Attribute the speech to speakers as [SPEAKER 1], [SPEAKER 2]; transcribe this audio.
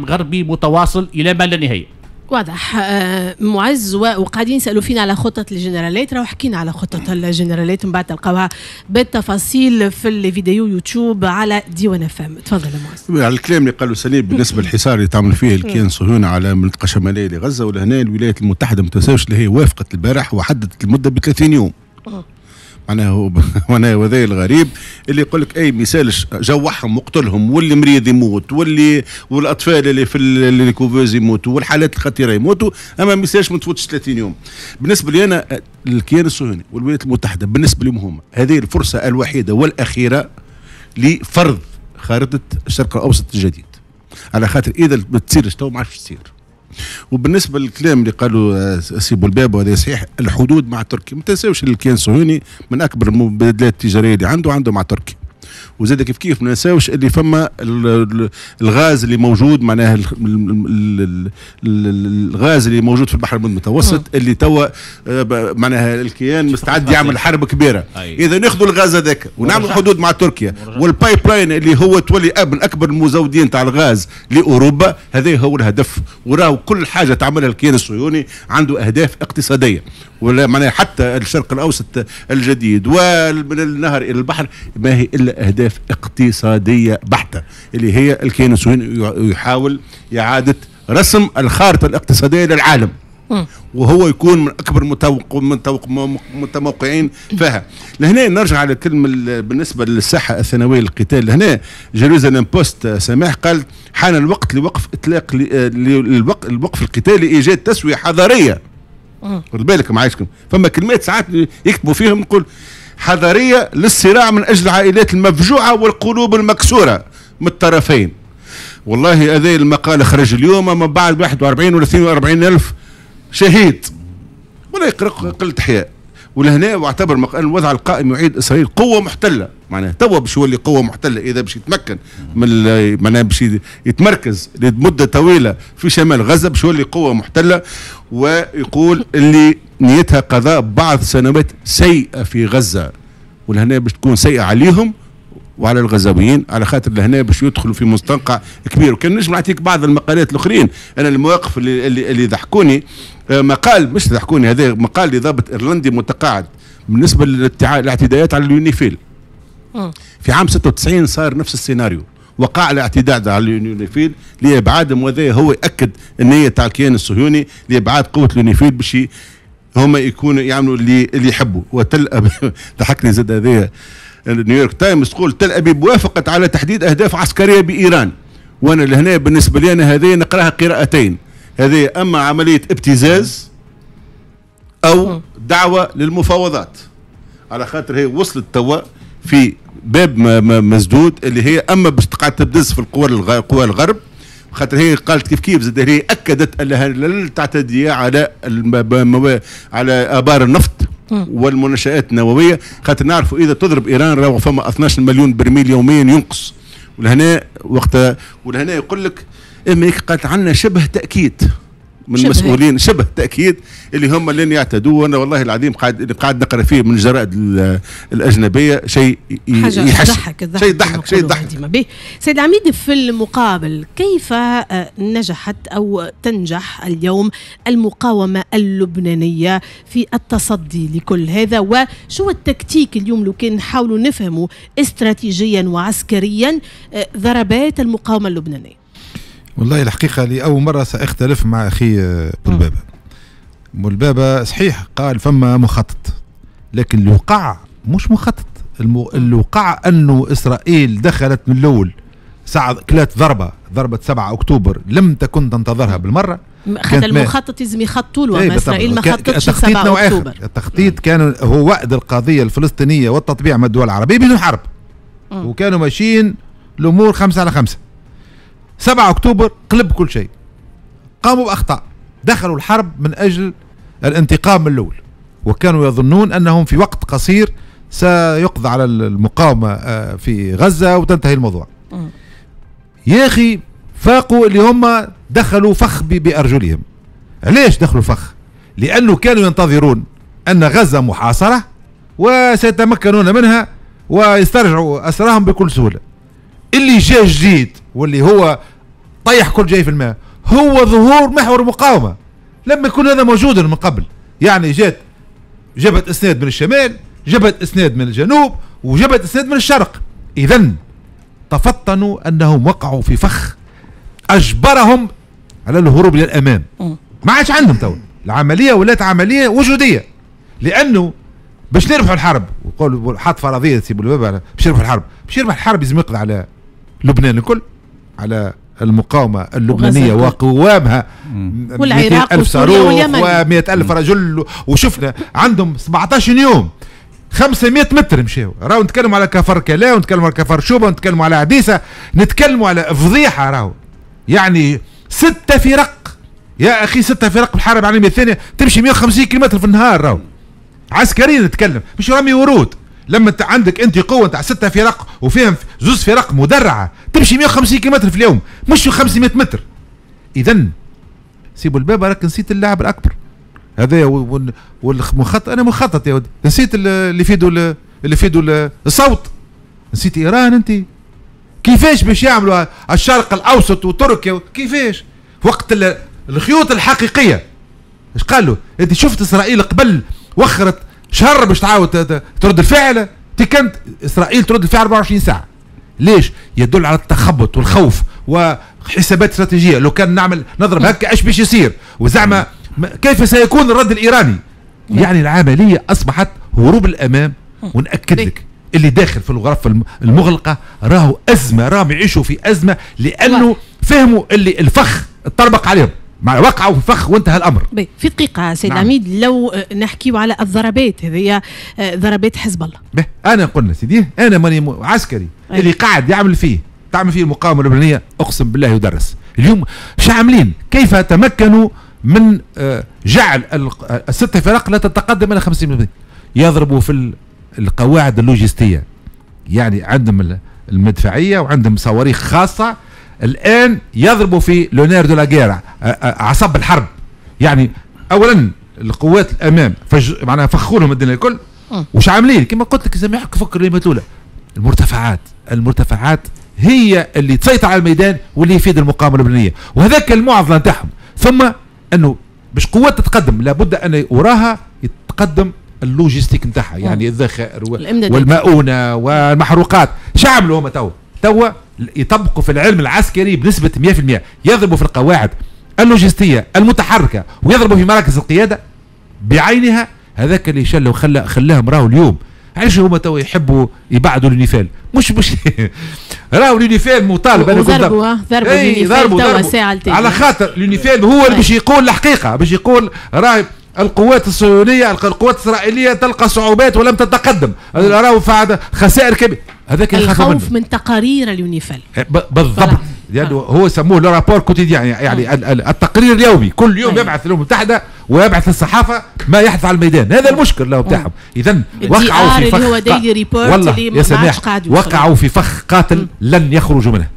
[SPEAKER 1] دعم غربي متواصل الى ما لا نهاية.
[SPEAKER 2] واضح معز. وقاعدين يسالوا فينا على خطه الجنرالات، راهو حكينا على خطه الجنرالات، من بعد تلقاوها بالتفاصيل في الفيديو يوتيوب على ديوان اف ام. تفضل يا معز.
[SPEAKER 3] على الكلام اللي قالوا سليم بالنسبة للحصار اللي تعمل فيه الكيان الصهيوني على المنطقة الشمالية لغزة، ولهنا الولايات المتحدة ما تنساوش اللي هي وافقت البارح وحددت المدة ب 30 يوم. معناها معناها وهذا الغريب اللي يقول لك اي ميسالش جوعهم وقتلهم، واللي مريض يموت، واللي والاطفال اللي في les couveuses يموتوا، والحالات الخطيرة يموتوا، اما ميسالش ما تفوتش 30 يوم. بالنسبة لي انا الكيان الصهيوني والولايات المتحدة بالنسبة لهم هما هذه الفرصة الوحيدة والاخيرة لفرض خارطة الشرق الاوسط الجديد، على خاطر اذا ما تصيرش تو ما عادش تصير. وبالنسبة للكلام اللي قالوا سي بولباب، وهذا صحيح، الحدود مع تركيا، ما تنساوش الكيان الصهيوني من اكبر المبادلات التجارية اللي عنده مع تركيا. وزاد كيف كيف ما ننساوش اللي فما الغاز اللي موجود، معناها الغاز اللي موجود في البحر المتوسط اللي توا معناها الكيان مستعد يعمل حرب كبيرة. اذا ناخذوا الغاز هذاك ونعملوا حدود مع تركيا وال pipeline اللي هو تولي من اكبر المزودين تاع الغاز لاوروبا، هذا هو الهدف. وراهو كل حاجة تعملها الكيان الصهيوني عنده اهداف اقتصادية، ولا معناها حتى الشرق الاوسط الجديد ومن النهر الى البحر ما هي الا اهداف اقتصادية بحته، اللي هي الكيان الصهيوني يحاول اعاده رسم الخارطة الاقتصادية للعالم، وهو يكون من اكبر متموقعين فيها. لهنا نرجع على كلمة بالنسبة للساحه الثانوية للقتال. لهنا جيروزالم بوست سماح قال حان الوقت لوقف اطلاق الوقف القتالي لايجاد تسويه حضارية. خد بالك معايشكم، فما كلمات ساعات يكتبوا فيهم، نقول حضارية للصراع من اجل العائلات المفجوعه والقلوب المكسورة من الطرفين. والله هذا المقال خرج اليوم من بعد 41 ولا 42 الف شهيد، ولا يقرأ قلة حياء. ولهنا واعتبر الوضع القائم يعيد اسرائيل قوة محتلة، معناها توا باش يولي قوة محتلة اذا باش يتمكن من معناها باش يتمركز لمدة طويلة في شمال غزة باش يولي قوة محتلة. ويقول اللي نيتها قضاء بعض سنوات سيئه في غزة، ولهنا باش تكون سيئه عليهم وعلى الغزاويين، على خاطر لهنا باش يدخلوا في مستنقع كبير. وكان نجم نعطيك بعض المقالات الاخرين، انا المواقف اللي ضحكوني، مقال مش ضحكوني، هذا مقال لضابط ايرلندي متقاعد بالنسبة للاعتداءات على اليونيفيل. في عام 96 صار نفس السيناريو، وقع الاعتداء على اليونيفيل لابعادهم، وهذا هو ياكد النية تاع الكيان الصهيوني لابعاد قوة اليونيفيل باش هما يكونوا يعملوا اللي يحبوا. وتل ابيب ضحكني زاد هذايا، نيويورك تايمز تقول تل ابيب وافقت على تحديد اهداف عسكرية بايران. وانا لهنا بالنسبة لي انا هذه نقراها قراءتين، هذه اما عملية ابتزاز او دعوه للمفاوضات، على خاطر هي وصلت توا في باب مسدود اللي هي اما باش تقعد تبدز في القوى الغرب، خاطر هي قالت كيف كيف زاد هي اكدت انها لن تعتدي على على ابار النفط والمنشآت النووية، خاطر نعرفوا اذا تضرب ايران راهو فما 12 مليون برميل يوميا ينقص. ولهنا وقتها ولهنا يقول لك امريكا قالت عندنا شبه تاكيد من المسؤولين، شبه تاكيد اللي هم لن يعتدوا. وانا والله العظيم قاعد نقرا فيه من الجرائد الاجنبية شيء
[SPEAKER 2] يضحك، شيء يضحك، شيء يضحك. سيد العميد، في المقابل كيف نجحت او تنجح اليوم المقاومة اللبنانية في التصدي لكل هذا، وشو التكتيك اليوم لو كان نحاولوا نفهموا استراتيجيا وعسكريا ضربات المقاومة اللبنانية؟
[SPEAKER 4] والله الحقيقة لأول مرة سأختلف مع أخي بولبابة. بولبابة صحيح قال فما مخطط، لكن اللي وقع مش مخطط. اللي وقع أنه إسرائيل دخلت من الأول ساعة كلات ضربة 7 أكتوبر لم تكن تنتظرها بالمرة.
[SPEAKER 2] خاطر المخطط لازم يخططوا له، أما إسرائيل ما خططش 7 أكتوبر.
[SPEAKER 4] التخطيط كان هو وعد القضية الفلسطينية والتطبيع مع الدول العربية بدون حرب، وكانوا ماشيين الأمور 5 على 5. 7 أكتوبر قلب كل شيء، قاموا بأخطاء، دخلوا الحرب من أجل الانتقام من الأول، وكانوا يظنون أنهم في وقت قصير سيقضى على المقاومة في غزة وتنتهي الموضوع. يا أخي فاقوا اللي هم دخلوا فخ بأرجلهم. علاش دخلوا فخ؟ لأنه كانوا ينتظرون أن غزة محاصرة وسيتمكنون منها ويسترجعوا أسراهم بكل سهولة. اللي جاء جديد واللي هو طيح كل شيء في الماء؟ هو ظهور محور مقاومة. لم يكن هذا موجودا من قبل. يعني جات جبهة اسناد من الشمال، جبهة اسناد من الجنوب، وجبهة اسناد من الشرق. اذا تفطنوا انهم وقعوا في فخ اجبرهم على الهروب الى الامام. ما عادش عندهم تو العملية ولات عملية وجودية، لانه باش نربحوا الحرب، وقول حط فرضية سي بولبابة باش يربحوا الحرب، باش يربح الحرب لازم يقضي على لبنان الكل، على المقاومة اللبنانية وقوامها
[SPEAKER 2] والعراق
[SPEAKER 4] 200,000 صاروخ و100,000 رجل، وشفنا عندهم 17 يوم 500 متر مشاو. راهو نتكلموا على كفر كلا، ونتكلموا على كفر شوبة، ونتكلموا على عديسه، نتكلموا على فضيحة. راهو يعني 6 فرق يا اخي، 6 فرق في الحرب العالمية الثانية تمشي 150 كيلومتر في النهار. راهو عسكريا نتكلم، مش رمي ورود. لما انت عندك انت قوة تاع 6 فرق وفيهم 2 فرق مدرعه تمشي 150 كيلومتر في اليوم، مش 500 متر. اذا سيبوا الباب، راك نسيت اللاعب الاكبر هذا والمخطط. انا مخطط يا ودي، نسيت اللي فيدو، اللي فيدو الصوت، نسيت ايران. انت كيفاش باش يعملوا الشرق الاوسط وتركيا؟ كيفاش وقت الخيوط الحقيقية؟ ايش قالوا؟ انت شفت اسرائيل قبل وخرت شهر باش تعاود ترد الفعل. كانت اسرائيل ترد الفعل 24 ساعة. ليش؟ يدل على التخبط والخوف وحسابات استراتيجية. لو كان نعمل نضرب هكا ايش باش يصير؟ وزعما كيف سيكون الرد الايراني؟ يعني العملية اصبحت هروب الامام. ونأكد لك اللي داخل في الغرف المغلقة راهو ازمة، راهم يعيشوا في ازمة، لانه فهموا اللي الفخ اتطربق عليهم، وقعوا في فخ وانتهى الامر.
[SPEAKER 2] في دقيقة سيد عميد، لو نحكيو على الضربات هذه، ضربات حزب الله.
[SPEAKER 4] انا قلنا سيدي، انا ماني عسكري. اللي قاعد يعمل فيه تعمل فيه المقاومة اللبنانية اقسم بالله يدرس. اليوم شو عاملين؟ كيف تمكنوا من جعل الست فرق لا تتقدم الى 50%؟ يضربوا في القواعد اللوجستية، يعني عندهم المدفعية وعندهم صواريخ خاصة. الان يضربوا في le nerf de la guerre، عصب الحرب. يعني اولا القوات الامام معناها فخوا لهم الدنيا الكل. وش عاملين؟ كما قلت لك سامحك فكر الاولى، المرتفعات، المرتفعات هي اللي تسيطر على الميدان واللي يفيد المقاومة اللبنانية، وهذاك المعضلة نتاعهم. ثم انه باش قوات تتقدم لابد ان وراها يتقدم اللوجيستيك نتاعها، يعني الذخائر والمؤونه والمحروقات. شو عملوا هما توا؟ يطبقوا في العلم العسكري بنسبة 100%، يضربوا في القواعد اللوجستية المتحركة ويضربوا في مراكز القيادة بعينها. هذاك اللي شل وخلى خلاهم راهو اليوم. علاش هما توا يحبوا يبعدوا اليونيفيل؟ مش راهو اليونيفيل مطالب.
[SPEAKER 2] ضربوا ضربوا توا
[SPEAKER 4] على خاطر اليونيفيل هو اللي باش يقول الحقيقة، باش يقول راهي القوات الصهيونية، القوات الاسرائيلية تلقى صعوبات ولم تتقدم، راهو خسائر كبيرة.
[SPEAKER 2] هذاك الخوف من تقارير اليونيفيل
[SPEAKER 4] بالضبط، لانه هو سموه le rapport quotidien، يعني التقرير اليومي، كل يوم يبعث الامم المتحدة ويبعث الصحافة ما يحدث على الميدان. هذا المشكل له بتاعهم. اذا وقعوا في فخ، والله يا سماح وقعوا في فخ قاتل لن يخرجوا منه.